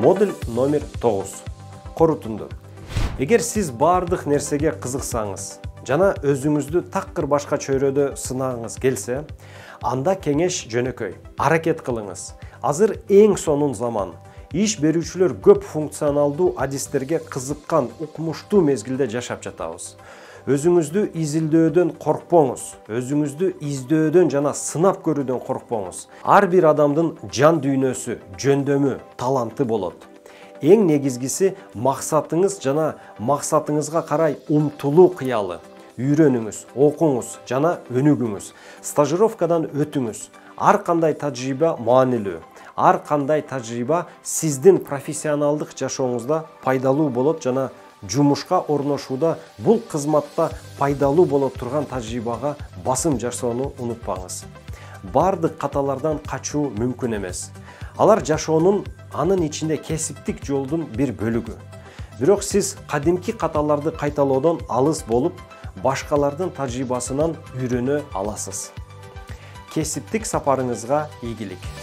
Модуль номер 9. Корутунду. Эгер сиз бардык нерсеге кызыксаңыз жана өзүңүздү такыр башка чөйрөдө сынагыңыз келсе, анда кеңеш жөнөкөй. Аракет кылыңыз. Азыр эң сонун заман. Иш берүүчүлөр көп функционалдуу адистерге кызыккан укмуштуу мезгилде жашап жатабыз. Өзүңүздү изилдөөдөн коркпоңуз, өзүңүздү издөөдөн жана сынап көрүүдөн коркпоңуз. Ар бир адамдын жан дүйнөсү, жөндөмү, таланты болот. Эң негизгиси максатыңыз жана максатыңызга карай умтулуу кыялы. Үйрөнүңүз, окуңуз жана өнүгүңүз. Стажировкадан өтүңүз. Ар кандай тажрыйба маанилүү. Ар кандай тажрыйба сиздин профессионалдык жашооңузда пайдалуу болот жана жумушка орношууда бул кызматта пайдалуу боло турган тажрыйбага басым жасоону унутпаңыз. Бардык каталардан качуу мүмкүн эмес. Алар жашоонун, анын ичинде кесиптик жолдун бир бөлүгү. Бирок сиз кадимки каталарды кайталоодон алыс болуп, башкалардын тажрыйбасынан үйрөнө аласыз. Кесиптик сапарыңызга ийгилик.